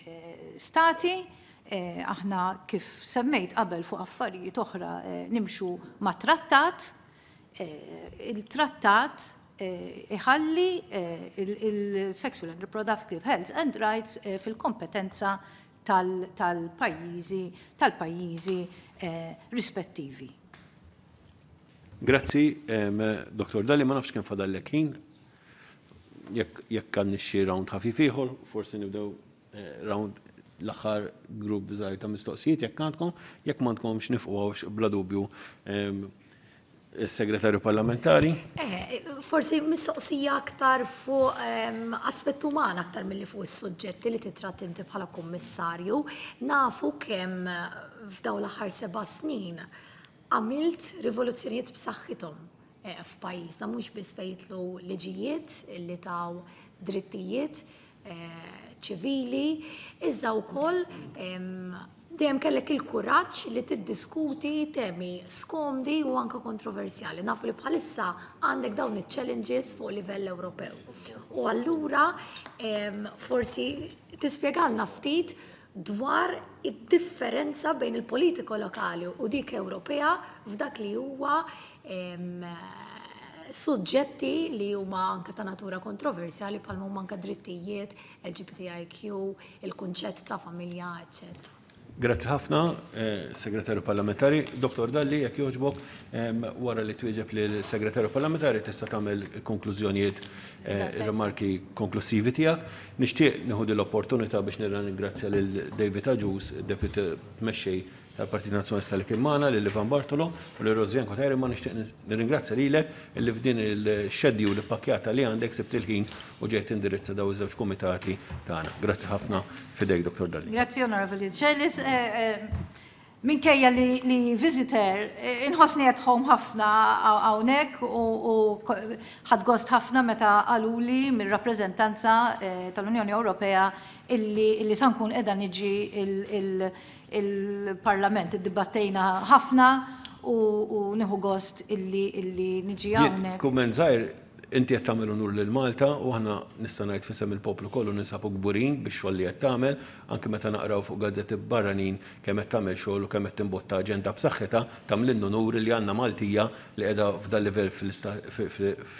stati. Aħna, kif semmejt qabel fuq affarijiet oħra, nimxu ma' trattat. Il-trattat iħalli il-sexual and reproductive health and rights fil-kompetenza tal-pajjiżi tal-pajjiżi rispettivi. Grazzi, Dottor Dalli, ma nafx kemm fadallek ħin. Jekk għandna xi round ħafif ieħor, forsi nibdew round l-aħħar grupp żgħir ta' mistoqsijiet jekk għandkom, jekk m'għandkomx nifqu bla dubju is-segretarju parlamentari. Forsi mistoqsija aktar fuq aspett uman aktar milli fuq is-suġġetti li titratt inti bħala kummissarju. Nafu kemm f'dawn l-aħħar seba' snin għamilt rivoluzzjonijiet b'saħħithom f'pajjiżna, mhux biss fejn jidħlu liġijiet li taw drittijiet ċivili, iżda wkoll dejjem kellek il-kuraġġ li tiddiskuti temi skomdi u anke kontroversjali. Nafu li bħalissa għandek dawn iċ-challenges fuq livell Ewropew. U allura forsi tispjegalna ftit dwar id-differenza bejn il-politika lokali u dik Ewropea f'dak li huwa suġġetti li huma anke ta' natura kontroversjali bħalma huma anke drittijiet, L G B T I Q, il-kunċett ta' familja, eċċetera. Grazzi ħafna, segretarju parlamentari. Dottor Dalli, jekk jogħġbok, wara li twieġeb lill-segretarju parlamentari tista' tagħmel konklużjonijiet, rimarki konklusivi tiegħek. Nixtieq nieħu l-opportunità biex nirringrazzja lil David Agius, Deputy Mexxej tal-Partit Nazzjonalista li kien magħna, lil Ivan Bartolo u lil Rosianne Cutajar, ma nixtieq nirringrazzja lilek illi f'din il-schedule ippakkjata li għandek sibt il-ħin u ġejt indirizza daw iż-żewġ kumitati tagħna. Grazzi ħafna, fidejk, Dottor Dalli. Grazzi, Onorevoli Decelis. Minkejja li, li visitor, inħossni at home ħafna hawnhekk u ħadt gost ħafna meta qaluli mir-rappreżentanza tal-Unjoni Ewropea illi, illi sa nkun qiegħda niġi il-Parlament. Iddibattejna ħafna u nieħu gost illi, illi niġi hawnhekk. Kumment żgħir, inti qed tagħmel unur lil Malta u aħna nista' ngħid f'isem il-poplu kollu ninsabu kburin bix-xogħol li qed tagħmel, anke meta naqraw fuq gazzetti barranin kemm qed tagħmel xogħol u kemm qed timbotta aġenda b'saħħitha, tagħmlilna unur li għandna Maltija li qiegħda f'dal livell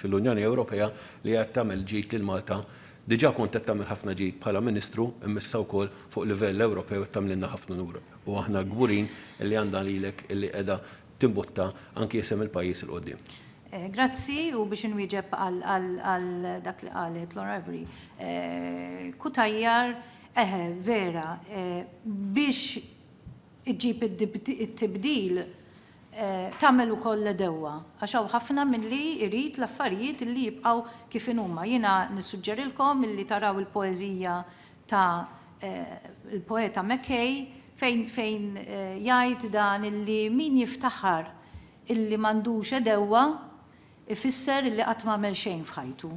fil-Unjoni Ewropea li qed tagħmel ġid lil Malta. Diġà kont qed tagħmel ħafna ġid bħala Ministru, imma issa wkoll fuq livell Ewropew qed tagħmlilna ħafna unur. U aħna kburin li għandna lilek illi qiegħda timbotta anki isem il-pajjiż 'il quddiem. Grazzi, u biex inwieġeb għal dak li qalet l-Onorevoli Cutajar, eħe, vera, biex iġġib it-tibdil tagħmel ukoll l-għedewwa, għax hawn ħafna min li jrid l-affarijiet li jibqgħu kif inhuma. Jiena nissuġġerilkom illi taraw il-poeżija ta' il-poeta McKay fejn fejn jgħid dan illi min jiftaħar illi m'għandux għedewwa ifisser illi qatt m'għamel xejn f'ħajtu.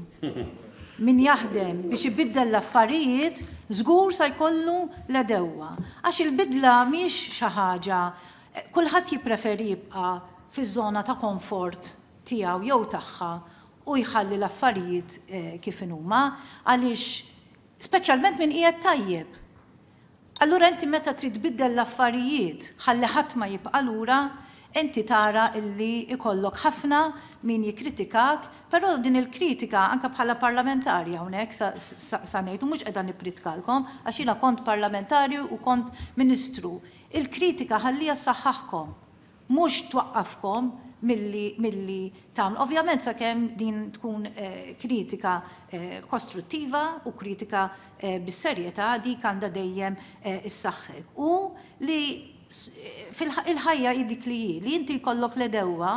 Min jaħdem biex ibiddel l-affarijiet żgur sa jkollu l-għedewwa. Għax il-bidla mhix xi ħaġa, kulħadd jippreferi jibqa' fiż-żona ta' komfort tiegħu jew tagħha u jħalli l-affarijiet kif inhuma, għaliex speċjalment min qiegħed tajjeb. Allura inti meta trid tbiddel l-affarijiet ħalli ħadd ma jibqa' lura, inti tara illi ikollok ħafna min jikkritikak, però din il-kritika anka bħala parlamentari hawnhekk sa ngħid, u mhux qiegħda nippritkalkom għax jiena kont parlamentari u kont ministru. Il-kritika ħallija ssaħħaħkom, mhux twaqqafkom milli, milli tagħmlu. Ovvjament sakemm din tkun kritika kostruttiva u kritika bis-serjetà, dik għandha dejjem issaħħek. U li fil-ħajja hi dik li hi, li inti jkollok l-għedewwa,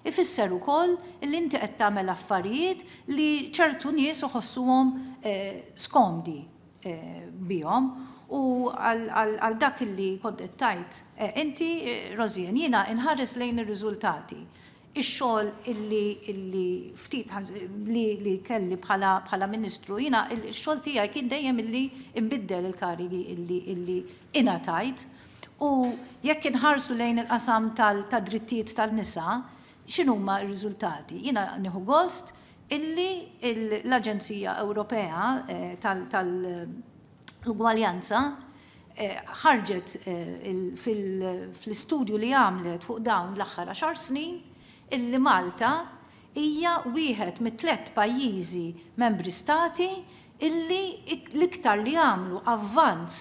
ifisser ukoll li inti qed tagħmel affarijiet li ċertu nies iħossuhom skomdi bihom. U għal dak li kont qed tgħid inti, Rosianne, jiena inħares lejn ir-riżultati. Ix-xogħol illi, illi ftit li, li kelli bħala, bħala ministru, jiena x-xogħol tiegħi kien dejjem illi nbiddel il-karigi illi, illi ingħatajt. U jekk inħarsu lejn il-qasam tad-drittijiet tal-nisa, x'inhuma r-riżultati? Jiena nieħu gost illi l-Aġenzija Ewropea tal-Ugwaljanza ħarġet fl-istudju li għamlet fuq dawn l-aħħar għaxar snin illi Malta hija wieħed mit-tliet pajjiżi membri stati illi l-iktar li għamlu avvanz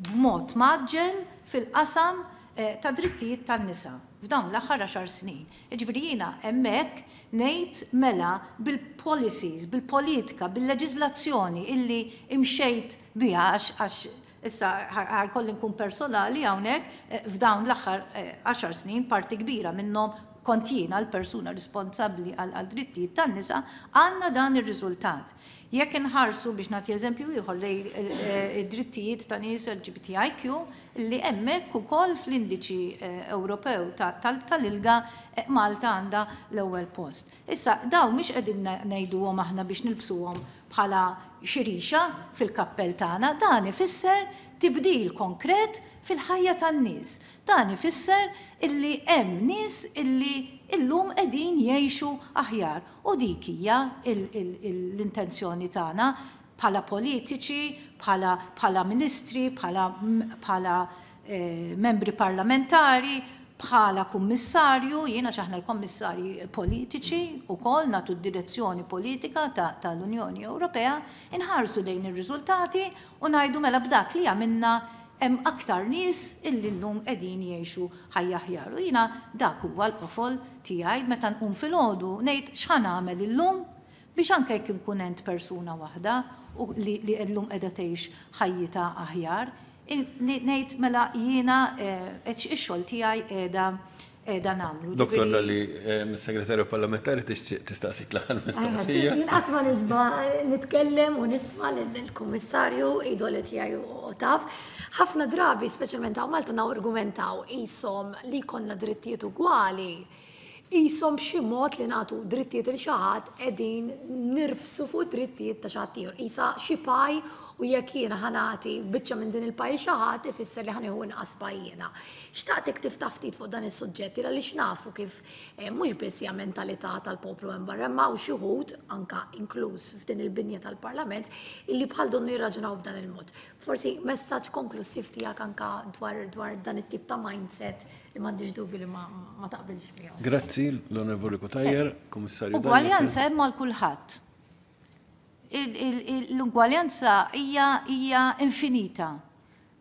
b'mod mgħaġġel fil-qasam ta' drittijiet tan-nisa. f'dawn l-aħħar għaxar snin. Jiġifieri jiena hemmhekk ngħid mela bil-policies, bil-politika, bil-leġiżlazzjoni illi imxejt biha, għax issa ħa jkolli nkun personali hawnhekk, eh, f'dawn l-aħħar eh, għaxar snin parti kbira minnhom kont jiena l-persuna responsabbli għal drittijiet tan-nisa, għandna dan ir-riżultat. Jekk inħarsu, biex nagħti eżempju ieħor, lejn eh, id-drittijiet ta' nies L G B T I Q, li hemmhekk ukoll fl-indiċi eh, Ewropew tal-I L G A eh, Malta għandha l-ewwel post. Issa dawn mhix qegħdin ngħiduhom aħna biex nilbsuhom bħala xi rixa fil-kappell tagħna, dan ifisser tibdil konkret fil-ħajja tan-nies. Dan ifisser illi hemm nies illi illum qegħdin jgħixu aħjar. U dik hija l-intenzjoni tagħna bħala politiċi, bħala ministri, bħala eh, membri parlamentari, bħala kummissarju, jiena aħna l-kommissarji politiċi ukoll nagħtu d-direzzjoni politika tal-Unjoni Ewropea, inħarsu lejn ir-riżultati u ngħidu mela b'dak li għamilna hemm aktar nies illi llum qegħdin jgħixu ħajja aħjar. U jiena dak huwa l-qofol tiegħi meta nqum filgħodu, ngħid x'ħa nagħmel illum biex anke jekk inkun għent persuna waħda u li llum qiegħda tgħix ħajjitha aħjar, ngħid mela jiena eh, ix-xogħol tiegħi qiegħda qiegħda nagħmlu. Doktor Dalli, eh, mis-segretarju parlamentari tistaqsik l-aħħar mistoqsija. Jien qatt ma nixba nitkellem u nisma' lill-kummissarju, idoli tiegħi u taf. Ħafna drabi, speċjalment hawn Malta, argumentaw qishom li jkollna drittijiet ugwali, qishom b'xi mod li nagħtu drittijiet lil xi ħadd qegħdin nirfsu fuq drittijiet ta' xi ħadd ieħor. Qisha xi pie u jekk jiena ħa nagħti biċċa minn din il-pie xi ħadd, ifisser li ħa nieħu inqas pie jiena. Xtaqtek tiftaħ ftit fuq dan is-suġġetti għaliex nafu kif eh, mhux biss hija mentalità tal-poplu hemm barra, ma u xi wħud anka inkluż f'din il-binja tal-Parlament illi bħal donnu jirraġunaw b'dan il-mod. Forsi messaġġ konklusiv tiegħek anka dwar dwar dan it-tip ta' mindset li m'għandix dubju li ma, ma taqbilx miegħu. Grazzi, l-Onorevoli Cutajar, Kummissarju. Ugwaljanza hemm għal kulħadd. L-ugwaljanza hija hija infinita.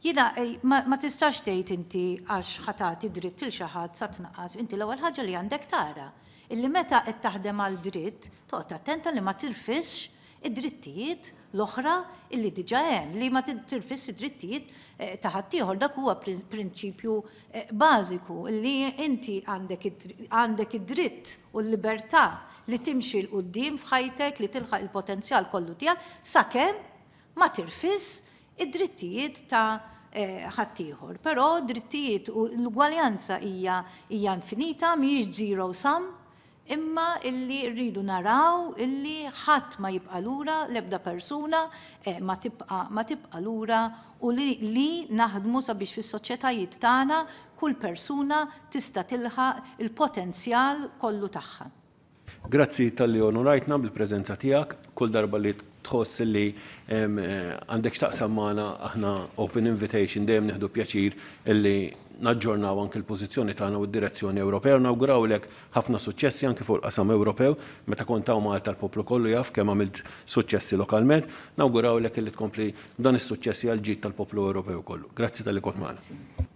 Jiena eh, ma, ma tistax tgħid inti għax ħa tagħti dritt lil xi ħadd sa tnaqqas. Inti l-ewwel ħaġa li għandek tara illi meta qed taħdem għal dritt, toqgħod attenta li ma tirfisx id-drittijiet l-oħra illi diġà hemm, li ma tirfisx id-drittijiet eh, ta' ħaddieħor. Dak huwa prinċipju eh, bażiku li inti għandek id-dritt u l-libertà li timxi 'l quddiem f'ħajtek, li tilħaq il-potenzjal kollu tiegħek sakemm ma tirfisx id-drittijiet ta' eh, ħaddieħor. Però drittijiet u l-ugwaljanza hija hija infinita, mhijiex zero sum, imma illi rridu naraw illi ħadd ma jibqa' lura, l-ebda persuna eh, ma tibqa' ma tibqa' lura u li, li naħdmu sabiex fis-soċjetajiet tagħna kull persuna tista' tilħaq il-potenzjal kollu tagħha. Grazzi talli onorajtna bil-preżenza tiegħek. Kull darba li tħoss li eh, għandek x'taqsam magħna, aħna open invitation, dejjem nieħdu pjaċir illi naġġornaw anke l-pożizzjoni tagħna u d-direzzjoni Ewropea. Nawgurawlek ħafna suċċessi anke fuq il-qasam Ewropew. Meta kont hawn Malta l-poplu kollu jaf kemm għamilt suċċessi lokalment. Nawgurawlek illi tkompli dan is-suċċessi għal ġid tal-poplu Ewropew kollu. Grazzi talli kont magħna.